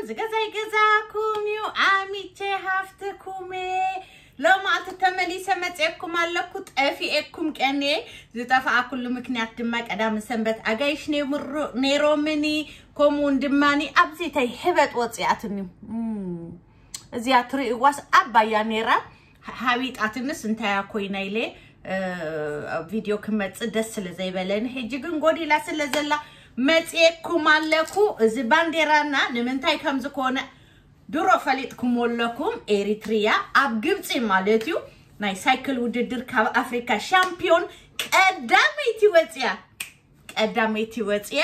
ዝገዛይ ገዛኩም እዩ ኣሚቼ ሃፍትኩሜ። ሎማዓልቲ ተመሊሰ መፅኤኩም ኣለኩ። ጠፊኤኩም ቀንየ። ዝጠፋኣኩሉ ምክንያት ድማ ቀዳምን ሰንበት ኣጋይሽ ነይሮምኒ። ከምኡውን ድማኒ ኣብዚ ተይ ህበጥ ወፂኣትኒ። እዚኣ ትርእይዋስ ኣባያ ነይራ። ሃቢጣትንስ እንታያ ኮይና ኢለ ቪድዮ ክመፅእ ደስ ስለ ዘይበለኒ፣ ሕጂ ግን ጎዲላ ስለ ዘላ መፅኤኩም ኣለኩ። እዚ ባንዴራና ንምንታይ ከም ዝኾነ ድሮ ፈሊጥኩም ኣለኩም። ኤሪትሪያ ኣብ ግብፂ ማለት እዩ ናይ ሳይክል ውድድር ካብ ኣፍሪካ ሻምፒዮን ቀዳመይቲ ወፅያ፣ ቀዳመይቲ ወፅያ።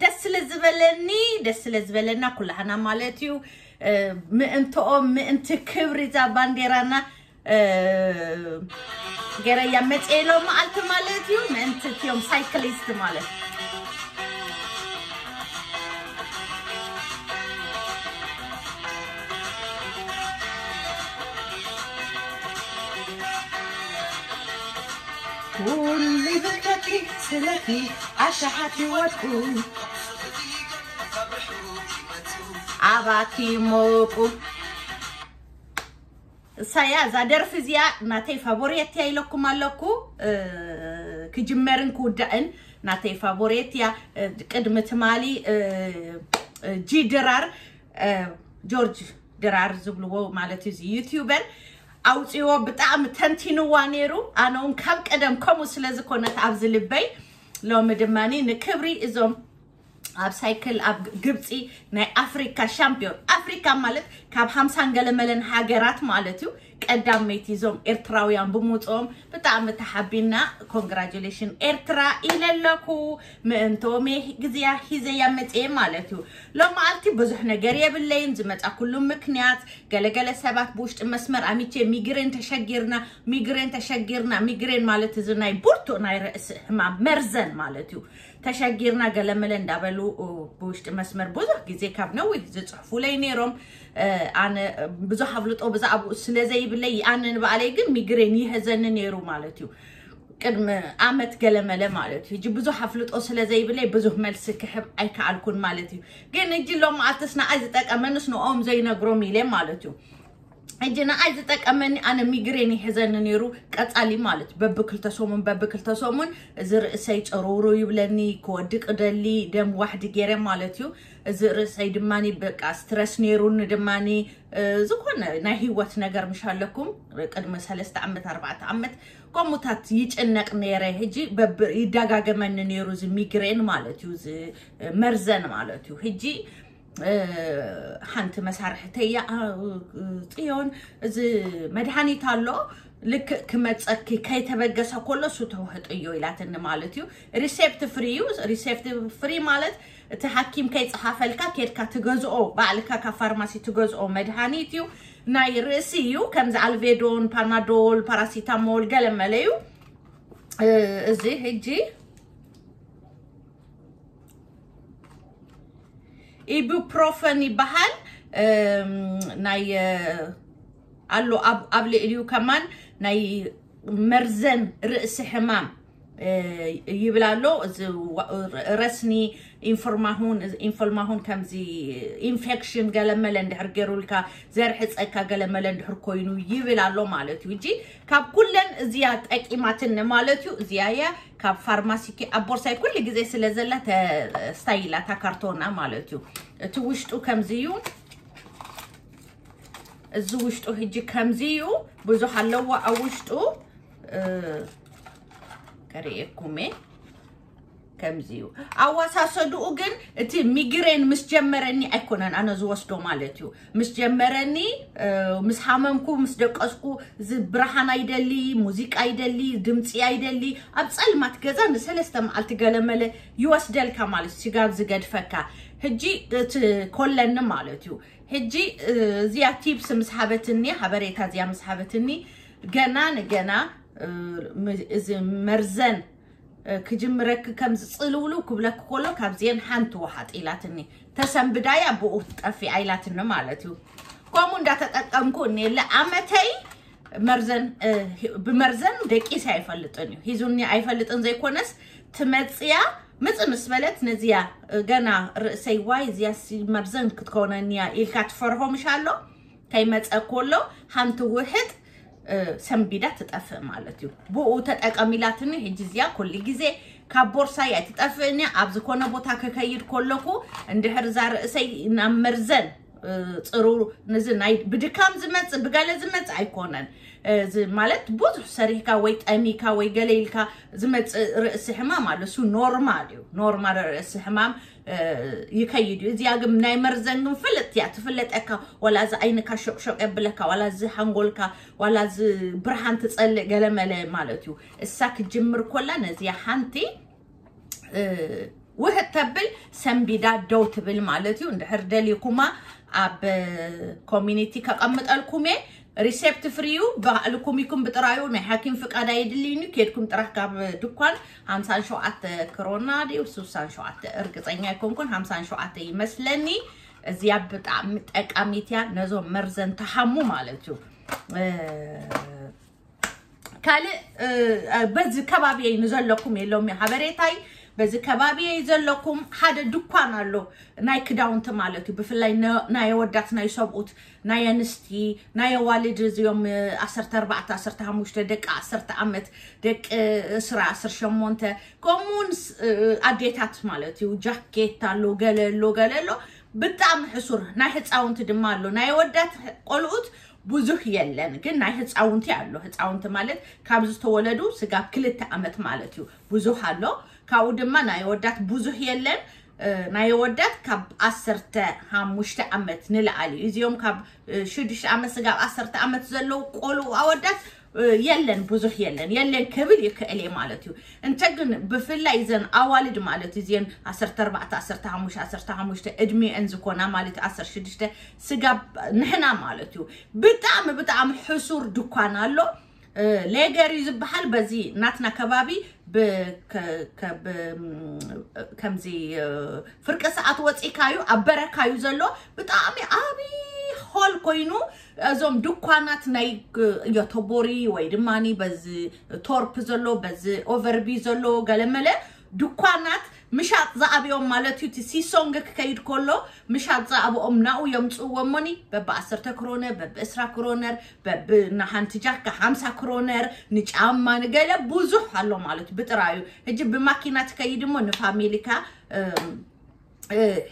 ደስ ስለ ዝበለኒ፣ ደስ ስለ ዝበለና ኩላህና ማለት እዩ። ምእንትኦም ምእንቲ ክብሪ እዛ ባንዴራና ገረያ መፅኤ ሎ መዓልቲ ማለት እዩ። ምእንቲ እትዮም ሳይክሊስት ማለት ኩሉ ብከኪ ስለኪ ኣሻሓት ይወድቁ ኣባኪ ሞቁ። እሳያ እዛ ደርፊ እዚኣ ናተይ ፋቮሬት እያ ኢለኩም ኣለኩ። ክጅመርን ክውዳእን ናተይ ፋቮሬት እያ። ቅድሚ ትማሊ ጂ ድራር ጆርጅ ድራር ዝብልዎ ማለት እዩ ዩቲዩበር ኣውፅዎ ብጣዕሚ ተንቲንዋ ነይሩ። ኣነ እውን ካብ ቀደም ከምኡ ስለ ዝኾነት ኣብዚ ልበይ ሎሚ ድማ ንክብሪ እዞም ኣብ ሳይክል ኣብ ግብፂ ናይ ኣፍሪካ ሻምፒዮን ኣፍሪካ ማለት ካብ ሃምሳን ገለመለን ሃገራት ማለት እዩ ቀዳመይቲ እዞም ኤርትራውያን ብምውፅኦም ብጣዕሚ ተሓቢና። ኮንግራጁሌሽን ኤርትራ ኢለለኩ ምእንቶም ግዜያ ሂዘያ መፅየ ማለት እዩ። ሎመዓልቲ ብዙሕ ነገር የብለይን ዝመፃኩሉ ምክንያት ገለገለ ሰባት ብውሽጢ መስመር ኣሚቼ ሚግሬን ተሸጊርና፣ ሚግሬን ተሸጊርና። ሚግሬን ማለት እዚ ናይ ብርቱዕ ናይ ርእሲ ህማም መርዘን ማለት እዩ። ተሸጊርና ገለመለ እንዳበሉ ብውሽጢ መስመር ብዙሕ ግዜ ካብ ነዊሕ ዝፅሕፉለይ ነይሮም። ኣነ ብዙሕ ኣፍልጦ ብዛዕባኡ ስለ ዘይብለይ ኣነ ንባዕለይ ግን ሚግሬን ይህዘኒ ነይሩ ማለት እዩ። ቅድሚ ኣመት ገለመለ ማለት እዩ። ሕጂ ብዙሕ ኣፍልጦ ስለ ዘይብለይ ብዙሕ መልሲ ክሕብ ኣይከኣልኩን ማለት እዩ። ግን እጂ ሎም ኣልትስ ንኣይ ዝጠቀመንስ ንኦም ዘይነግሮም ኢለ ማለት እዩ። ሕጂ ንኣይ ዝጠቀመኒ ኣነ ሚግሬን ይሕዘኒ ነይሩ ቀጻሊ ማለት በብክልተ ሰሙን በብክልተ ሰሙን እዚ ርእሰይ ጨሮሮ ይብለኒ ክወድቅ ደሊ ደም ዋሕዲ ገይረ ማለት እዩ። እዚ ርእሰይ ድማኒ በቃ ስትረስ ነይሩኒ ድማኒ ዝኾነ ናይ ህይወት ነገር ምሽ ኣለኩም ቅድሚ ሰለስተ ዓመት ኣርባዕተ ዓመት ከምኡታት ይጭነቅ ነይረ። ሕጂ በብ ይደጋገመኒ ነይሩ እዚ ሚግሬን ማለት እዩ፣ እዚ መርዘን ማለት እዩ። ሕጂ ሓንቲ መሳርሕተያ ጽዮን እዚ መድሃኒት ኣሎ ልክእ ክመፀኪ ከይተበገሰ ከሎ እሱ ተውህጥዮ ኢላትኒ ማለት እዩ። ሪሴፕት ፍሪ እዩ። ሪሴፕት ፍሪ ማለት እቲ ሓኪም ከይፀሓፈልካ ኬድካ ትገዝኦ ባዕልካ ካብ ፋርማሲ ትገዝኦ መድሃኒት እዩ። ናይ ርእሲ እዩ። ከምዚ ኣልቬዶን ፓናዶል ፓራሲታሞል ገለመለ እዩ። እዚ ሕጂ ኢቡፕሮፈን ይበሃል። ናይ ኣሎ ኣብ ልዕሊኡ ከማን ናይ መርዘን ርእሲ ሕማም ይብል ኣሎ። እዚ ረስኒ ኢንፎልማሁን ኢንፎልማሁን ከምዚ ኢንፌክሽን ገለመለ እንድሕር ገይሩልካ ዘርሕፀካ ገለመለ እንድሕር ኮይኑ ይብል ኣሎ ማለት እዩ። እጂ ካብ ኩለን እዚያ ጠቂማትኒ ማለት እዩ። እዚያ እያ ካብ ፋርማሲኪ ኣብ ቦርሳይ ኩሉ ግዜ ስለ ዘላ ተስታይላ እታ ካርቶና ማለት እዩ። እቲ ውሽጡ ከምዚ እዩ። እዚ ውሽጡ ሕጂ ከምዚ እዩ። ብዙሕ ኣለዎ ኣብ ውሽጡ ከርእየኩም እየ። ከምዚ እዩ ኣዋሳሰድኡ ግን እቲ ሚግሬን ምስ ጀመረኒ ኣይኮነን ኣነ ዝወስዶ ማለት እዩ። ምስ ጀመረኒ ምስ ሓመምኩ ምስ ደቀስኩ እዚ ብርሃን ኣይደሊ፣ ሙዚቃ ኣይደሊ፣ ድምፂ ኣይደሊ። ኣብ ፀልማት ገዛ ንሰለስተ መዓልቲ ገለመለ ይወስደልካ ማለት ስጋብ ዝገድፈካ። ሕጂ እቲ ኮለኒ ማለት እዩ። ሕጂ እዚያ ቲፕስ ምስ ሃበትኒ ሓበሬታ እዚያ ምስ ሃበትኒ ገና ንገና እዚ መርዘን ክጅምረኪ ከም ዝፅልውልው ክብለኪ ከሎ ካብዚአን ሓንቲ ውሓጥ ኢላትኒ። ተሰንብዳያ ብኡ ትጠፊ ኣይላትኒ ማለት እዩ። ከምኡ እንዳተጠቀምኩ እኔለ ኣመተይ መርዘን ብመርዘን ደቂሲ ኣይፈልጥን እዩ ሂዙኒ ኣይፈልጥን ዘይኮነስ ትመፅያ ምጽ ምስ በለት ነዚያ ገና ርእሰይ ዋይ እዚያ መርዘን ክትኮነኒያ ኢልካ ትፈርሆ ምሽ ኣሎ። ከይመጸ ኮሎ ሓንቲ ውሕጥ ሰንቢዳ ትጠፍእ ማለት እዩ። ብኡ ተጠቀሚላትኒ። ሕጂ እዚያ ኩሉ ግዜ ካብ ቦርሳይ ኣይትጠፍእኒ። ኣብ ዝኾነ ቦታ ክከይድ ኮለኩ እንድሕር እዛ ርእሰይ ናብ መርዘን ፅሩ፣ ንዚ ናይ ብድካም ዝመፅእ ብገለ ዝመፅእ ኣይኮነን። እዚ ማለት ብዙሕ ሰሪሕካ ወይ ጠሚካ ወይ ገለ ኢልካ ዝመፅእ ርእሲ ሕማም ኣሎ። እሱ ኖርማል እዩ። ኖርማል ርእሲ ሕማም ይከይድ እዩ። እዚኣ ግን ናይ መርዘን ግን ፍልጥ እያ። ትፍለጠካ፣ ዋላ እዚ ዓይንካ ሾቅሾቅ የብለካ፣ ዋላ እዚ ሓንጎልካ፣ ዋላ እዚ ብርሃን ትጸልእ ገለመለ ማለት እዩ። እሳ ክጅምር ኮላ ነዚኣ ሓንቲ ውህጥ ተብል ሰንቢዳ ደው ትብል ማለት እዩ። እንድሕር ደሊኩማ ኣብ ኮሚኒቲ ከቐምጠልኩም እየ። ሪሴፕት ፍሪ እዩ። ባዕልኩም ኢኩም ብጥራዩ፣ ናይ ሓኪም ፍቃድ ኣይድልይኒ። ኬድኩም ጥራሕ ካብ ድኳን ሓምሳን ሸውዓተ ክሮና ድዩ ስሳን ሸውዓተ እርግፀኛ ኣይኮንኩን፣ ሓምሳን ሸውዓተ ይመስለኒ። እዚያ ብጣዕሚ ጠቃሚት እያ ነዞም መርዘን ተሓሙ ማለት እዩ። ካልእ በዚ ከባቢየይ ንዘለኩም የሎም ሓበሬታይ። በዚ ከባቢየይ ዘለኩም ሓደ ድኳን ኣሎ ናይ ክዳውንቲ ማለት እዩ። ብፍላይ ናይ ኣወዳት ናይ ሰብኡት ናይ ኣንስቲ ናይ ኣዋልድ እዚኦም ዓሰርተ ኣርባዕተ ዓሰርተ ሓሙሽተ ደቂ ዓሰርተ ዓመት ደቂ እስራ ዓሰርተ ሸሞንተ ከምኡውን ኣዴታት ማለት እዩ። ጃኬት ኣሎ ገለ ኣሎ ገለ ኣሎ። ብጣዕሚ ሕሱር ናይ ህፃውንቲ ድማ ኣሎ። ናይ ኣወዳት ቆልኡት ብዙሕ የለን ግን ናይ ህፃውንቲ ኣሎ። ህፃውንቲ ማለት ካብ ዝተወለዱ ስጋብ ክልተ ዓመት ማለት እዩ። ብዙሕ ኣሎ። ካብኡ ድማ ናይ ኣወዳት ብዙሕ የለን። ናይ ኣወዳት ካብ ዓሰርተ ሓሙሽተ ዓመት ንላዓሊ እዩ። እዚኦም ካብ ሽዱሽተ ዓመት ስጋብ ዓሰርተ ዓመት ዘለዉ ቆልኡ ኣወዳት የለን ብዙሕ የለን የለን ክብል ይክእል እየ ማለት እዩ። እንተ ግን ብፍላይ እዘን ኣዋልድ ማለት እዩ እዚን ዓሰርተ ኣርባዕተ ዓሰርተ ሓሙሽተ ዓሰርተ ሓሙሽተ እድሜአን ዝኾና ማለት እዩ ዓሰርተ ሽዱሽተ ስጋብ ንሕና ማለት እዩ። ብጣዕሚ ብጣዕሚ ሕሱር ድኳን ኣሎ። ሌገር እዩ ዝበሃል። በዚ ናትና ከባቢ ከምዚ ፍርቂ ሰዓት ወፂካዩ ኣብ በረካዩ ዘሎ ብጣዕሚ ዓብዪ ሆል ኮይኑ እዞም ድኳናት ናይ ዮቶቦሪ ወይ ድማ በዚ ቶርፕ ዘሎ በዚ ኦቨርቢ ዘሎ ገለመለ ድኳናት ምሻጥ ዝኣብዮም ማለት እዩ። እቲ ሲሶንግ ክከይድ ከሎ ምሻጥ ዝኣብኦም ናኡ የምፅእዎ እሞኒ በቢ ዓሰርተ ክሮነር በቢ ዕስራ ክሮነር በቢ ንሓንቲ ጃካ ሓምሳ ክሮነር ንጫማ ንገለ ብዙሕ ኣሎ ማለት እዩ። ብጥራዩ ሕጂ ብማኪና ትከይድ እሞ ንፋሚሊካ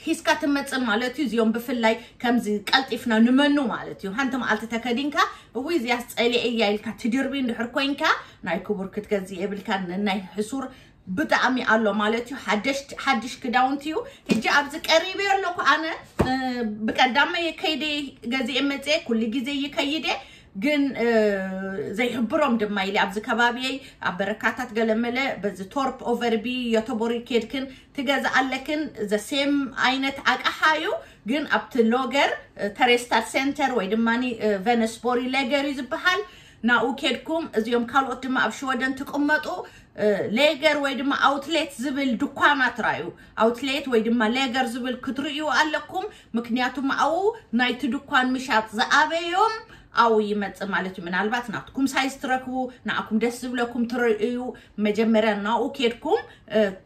ሂስካ ትመፅእ ማለት እዩ። እዚኦም ብፍላይ ከምዚ ቀልጢፍና ንመኑ ማለት እዩ። ሓንቲ መዓልቲ ተከዲንካ እዊ እዚያስ ፀሊአ እያ ኢልካ ትድርቢ እንድሕር ኮይንካ ናይ ክቡር ክትገዝእ የብልካ። ናይ ሕሱር ብጣዕሚ ኣሎ ማለት እዩ። ሓድሽ ክዳውንቲ እዩ። ሕጂ ኣብዚ ቀሪበ ኣለኩ ኣነ ብቀዳመ ከይደ ገዚኤ መፅኤ ኩሉ ግዜ ይከይደ ግን ዘይሕብሮም ድማ ኢለ ኣብዚ ከባቢየይ ኣብ በረካታት ገለመለ በዚ ቶርፕ ኦቨርቢ ዮቶቦሪ ኬድክን ትገዝኣለክን ዘሴም ዓይነት ኣቅሓ እዩ። ግን ኣብቲ ሎገር ተሬስታር ሴንተር ወይ ድማ ቨነስቦሪ ሌገር እዩ ዝበሃል። ናኡ ኬድኩም እዚኦም ካልኦት ድማ ኣብ ሽወደን ትቅመጡ ሌገር ወይ ድማ ኣውትሌት ዝብል ድኳናት ራዩ። ኣውትሌት ወይ ድማ ሌገር ዝብል ክትርእዩ ኣለኩም። ምክንያቱ ማኣው ናይቲ ድኳን ምሻጥ ዝኣበዮም ኣው ይመጽእ ማለት እዩ። ምናልባት ናትኩም ሳይዝ ትረክቡ ንኣኩም ደስ ዝብለኩም ትርእዩ። መጀመርያ ናኡ ኬድኩም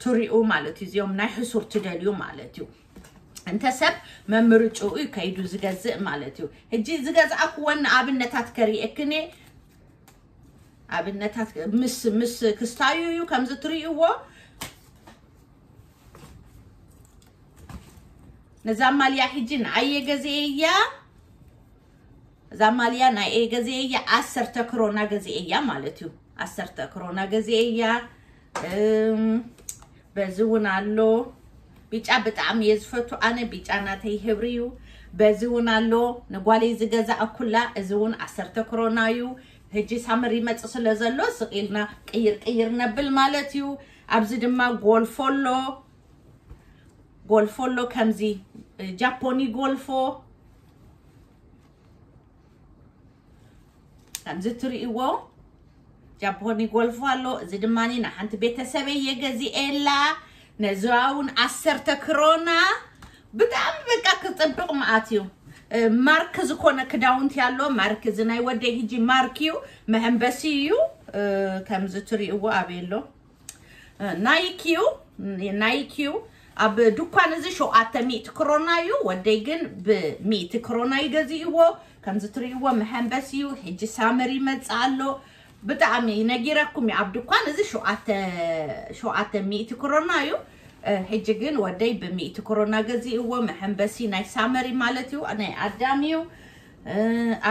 ትሪኡ ማለት እዩ። እዚኦም ናይ ሕሱር ትደልዩ ማለት እዩ። እንተ ሰብ መምርጭኡ እዩ ከይዱ ዝገዝእ ማለት እዩ። ሕጂ ዝገዝኣክወን ንኣብነታት ከርእየክን ኣብነታት ምስ ምስ ክስታዩ እዩ ከምዚ ትርእይዎ። ነዛ ማልያ ሕጂ ንኣየ ገዜ እያ። እዛ ማልያ ናይ ኤ ገዜ እያ። ዓሰርተ ክሮና ገዜ እያ ማለት እዩ። ዓሰርተ ክሮና ገዜ እያ። በዚ እውን ኣሎ። ቢጫ ብጣዕሚ እየ ዝፈቱ ኣነ። ቢጫ ናተይ ህብሪ እዩ። በዚ እውን ኣሎ። ንጓለይ ዝገዛእኩላ እዚ እውን ዓሰርተ ክሮና እዩ። ሕጂ ሳመር ይመጽእ ስለ ዘሎ ስቕ ኢልና ቅይር ቅይር ነብል ማለት እዩ። ኣብዚ ድማ ጎልፎ ኣሎ። ጎልፎ ኣሎ ከምዚ ጃፖኒ ጎልፎ ከምዚ ትርእይዎ ጃፖኒ ጎልፎ ኣሎ። እዚ ድማ ንሓንቲ ቤተሰበይ የገዚኤላ። ነዚዋ እውን ዓሰርተ ክሮና። ብጣዕሚ በቃ ክፅብቕ መዓት እዩ። ማርክ ዝኾነ ክዳውንቲ ኣሎ። ማርክ እዚ ናይ ወደይ ሕጂ ማርክ እዩ። መሐንበሲ እዩ። ከምዚ ትርእይዎ ኣበይ ኣሎ ናይክ እዩ። ናይኪ እዩ። ኣብ ድኳን እዚ ሸውዓተ ሚእቲ ክሮና እዩ። ወደይ ግን ብሚእቲ ክሮና ይገዝእዎ። ከምዚ ትርእይዎ መሐንበስ እዩ። ሕጂ ሳመር ይመጽእ ኣሎ። ብጣዕሚ ነጊረኩም እዩ። ኣብ ድኳን እዚ ሸውዓተ ሸውዓተ ሚእቲ ክሮና እዩ። ሕጂ ግን ወደይ ብሚእቲ ክሮና ገዚእዎ። መሐንበሲ ናይ ሳመሪ ማለት እዩ። ናይ ኣዳም እዩ።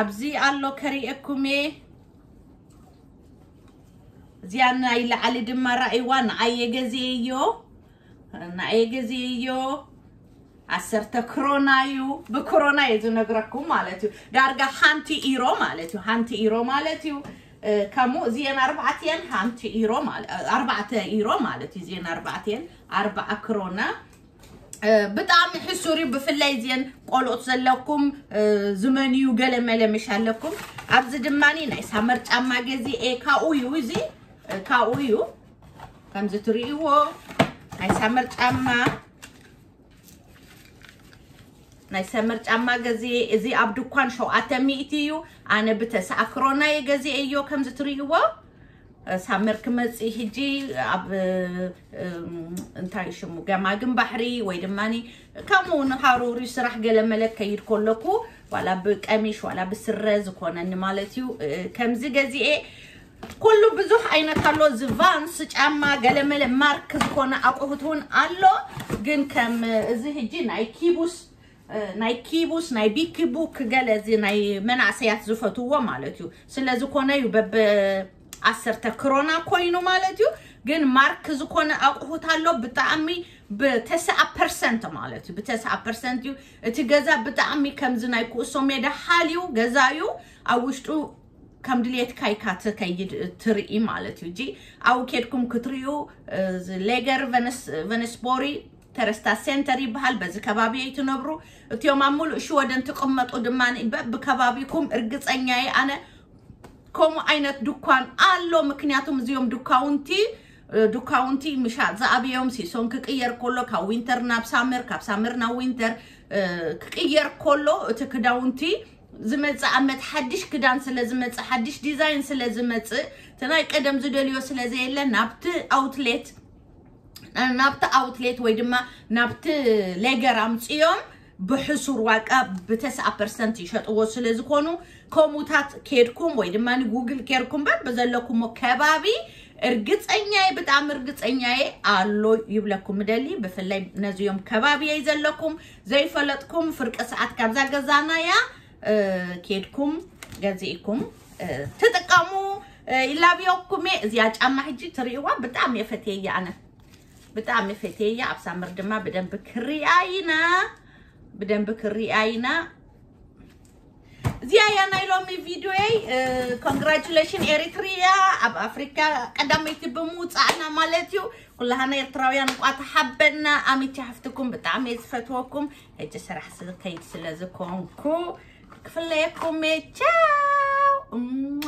ኣብዚ ኣሎ ከርእየኩም እየ። እዚኣ ናይ ላዕሊ ድማ ራእይዋ ንኣየ ገዚእዮ። ንኣየ ገዚእዮ። ዓሰርተ ክሮና እዩ። ብክሮና እየ ዝነግረኩም ማለት እዩ። ዳርጋ ሓንቲ ኢሮ ማለት እዩ። ሓንቲ ኢሮ ማለት እዩ። ከምኡ እዚአን ኣርባዕቲአን ሓንቲ ኢሮ ማለት ኣርባዕተ ኢሮ ማለት እዩ። እዚአን ኣርባዕቲአን ኣርባዓ ክሮና። ብጣዕሚ ሕሱር እዩ። ብፍላይ እዚአን ቆልኦት ዘለኩም ዝመንዩ ገለ መለ ምሽ ኣለኩም። ኣብዚ ድማኒ ናይ ሳመር ጫማ ገዚኤ። ካኡ እዩ እዚ ካኡ እዩ። ከምዚ ትርእይዎ ናይ ሳመር ጫማ ናይ ሰመር ጫማ ገዚኤ። እዚ ኣብ ድኳን ሸውዓተ ሚእቲ እዩ። ኣነ ብተስዓ ክሮና እየ ገዚኤዮ። ከምዚ ትርእይዎ ሳመር ክመፅእ ሕጂ ኣብ እንታይ ሽሙ ገማግም ባሕሪ ወይ ድማ ከምኡ ንሃሩሪ ስራሕ ገለመለ ከይድ ከለኩ ዋላ ብቀሚሽ ዋላ ብስረ ዝኾነኒ ማለት እዩ። ከምዚ ገዚኤ ኩሉ ብዙሕ ዓይነት ኣሎ። እዚ ቫንስ ጫማ ገለመለ ማርክ ዝኾነ ኣቑሑት እውን ኣሎ። ግን ከም እዚ ሕጂ ናይ ኪቡስ ናይ ኪቡስ ናይ ቢኪ ቡክ ገለ እዚ ናይ መናእሰያት ዝፈትዎ ማለት እዩ። ስለዝኮነ እዩ በብ ዓሰርተ ክሮና ኮይኑ ማለት እዩ። ግን ማርክ ዝኾነ ኣቑሑት ኣሎ። ብጣዕሚ ብተስዓ ፐርሰንት ማለት እዩ። ብተስዓ ፐርሰንት እዩ። እቲ ገዛ ብጣዕሚ ከምዚ ናይ ኩእሶ ሜዳ ሓልዩ ገዛ እዩ። ኣብ ውሽጡ ከም ድሌትካ ኢካ ትከይድ ትርኢ ማለት እዩ። እጂ ኣብኡ ኬድኩም ክትርእዩ ሌገር ቨነስቦሪ ተረስታ ሴንተር ይበሃል። በዚ ከባቢ እትነብሩ እቲኦም ኣብ ሙሉእ ሽወደን ትቕመጡ ድማ በብከባቢኩም እርግፀኛ እየ ኣነ ከምኡ ዓይነት ድኳን ኣሎ። ምክንያቱም እዚኦም ድካውንቲ ድካውንቲ ምሻጥ ዝኣብዮም ሲሶን ክቅየር ከሎ ካብ ዊንተር ናብ ሳመር ካብ ሳመር ናብ ዊንተር ክቅየር ከሎ እቲ ክዳውንቲ ዝመፅእ ኣመት ሓድሽ ክዳን ስለ ዝመፅእ ሓድሽ ዲዛይን ስለ ዝመፅእ እቲ ናይ ቀደም ዝደልዮ ስለ ዘየለ ናብቲ ኣውትሌት ናብቲ ኣውትሌት ወይ ድማ ናብቲ ሌገር ኣምፅዮም ብሕሱር ዋጋ ብተስዓ ፐርሰንት ይሸጥዎ ስለ ዝኾኑ ከምኡታት ኬድኩም ወይ ድማ ንጉግል ኬርኩም በር ብዘለኩሞ ከባቢ እርግፀኛየ ብጣዕሚ እርግፀኛየ ኣሎ ይብለኩም ምደሊ። ብፍላይ ነዚዮም ከባቢየይ ዘለኩም ዘይፈለጥኩም ፍርቂ ሰዓት ካብዛ ገዛናያ ኬድኩም ገዚእኩም ትጥቀሙ። ይላብዮኩም እየ። እዚኣ ጫማ ሕጂ ትርእይዋ ብጣዕሚ እየ ፈትየያ ኣነ ብጣዕሚ ፈትየያ። ኣብ ሳምር ድማ ብደንብ ክሪኣ ኢና ብደንብ ክሪኣ ኢና። እዚኣ እያ ናይ ሎሚ ቪድዮይ። ኮንግራቹሌሽን ኤሪትሪያ ኣብ ኣፍሪካ ቀዳመይቲ ብምውፃእና ማለት እዩ። ኩላሃና ኤርትራውያን እንቋ ተሓበና። ኣሚቲ ሓፍትኩም ብጣዕሚ እየ ዝፈትወኩም። ሕጂ ስራሕ ስከይድ ስለ ዝኮንኩ ክፍለየኩም እየ። ቻው።